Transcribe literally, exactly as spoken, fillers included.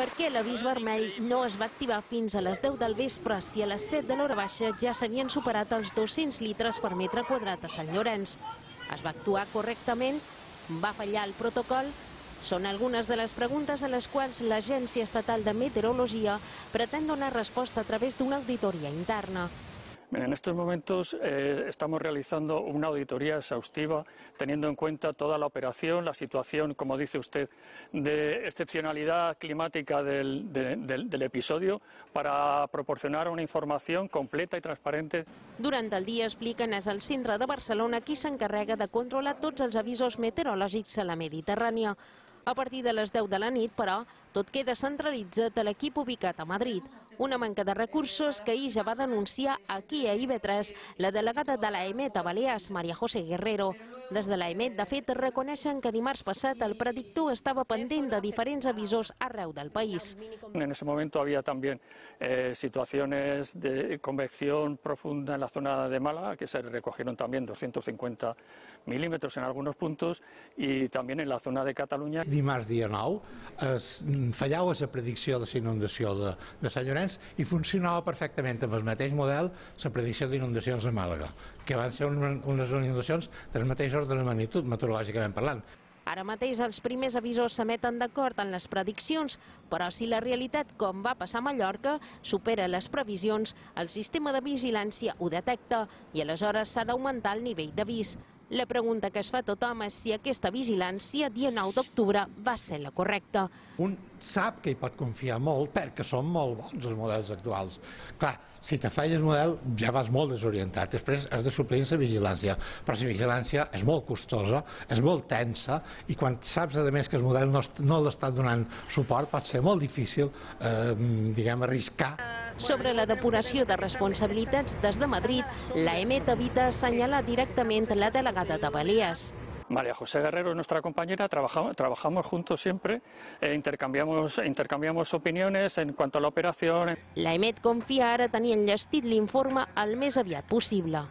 Per què l'avís vermell no es va activar fins a les deu del vespre si a les set de l'hora baixa ja s'havien superat els dos-cents litres per metre quadrat a Sant Llorenç? Es va actuar correctament? Va fallar el protocol? Són algunes de les preguntes a les quals l'Agència Estatal de Meteorologia pretén donar resposta a través d'una auditoria interna. En estos momentos eh, estamos realizando una auditoría exhaustiva, teniendo en cuenta toda la operación, la situación, como dice usted, de excepcionalidad climática del, de, del, del episodio, para proporcionar una información completa y transparente. Durant el dia, expliquen, és el centre de Barcelona qui s'encarrega de controlar tots els avisos meteorològics a la Mediterrània. A partir de les deu de la nit, però, tot queda centralitzat a l'equip ubicat a Madrid. Una manca de recursos que ahir ja va denunciar aquí a I B tres la delegada de l'AEMET a Balears, María José Guerrero. Des de l'AEMET, de fet, reconeixen que dimarts passat el predictor estava pendent de diferents avisos arreu del país. En ese momento había también eh, situaciones de convección profunda en la zona de Málaga, que se recogieron también doscientos cincuenta milímetros en algunos puntos, y también en la zona de Catalunya. Dimarts dia nou es fallava la predicció de la inundació de, de Sant Llorenç i funcionava perfectament amb el mateix model la predicció d'inundacions a Màlaga, que van ser unes inundacions del mateix ordre de magnitud, meteorològicament parlant. Ara mateix els primers avisos s'emeten d'acord en les prediccions, però si la realitat, com va passar a Mallorca, supera les previsions, el sistema de vigilància ho detecta i aleshores s'ha d'augmentar el nivell d'avís. La pregunta que es fa a tothom és si aquesta vigilància, dia nou d'octubre, va ser la correcta. Un sap que hi pot confiar molt perquè són molt bons els models actuals. Clar, si te falla el model ja vas molt desorientat. Després has de suplir la vigilància, però la vigilància és molt costosa, és molt tensa, i quan saps a més que el model no, no l'està donant suport pot ser molt difícil eh, diguem, arriscar. Sobre la depuració de responsabilitats des de Madrid, l'AEMET evita assenyalar directament la delegada de Balears. María José Guerrero es nuestra compañera, trabajamos, trabajamos juntos siempre, eh, intercambiamos, intercambiamos opiniones en cuanto a la operación. L'AEMET confia ara tenir enllestit l'informe el més aviat possible.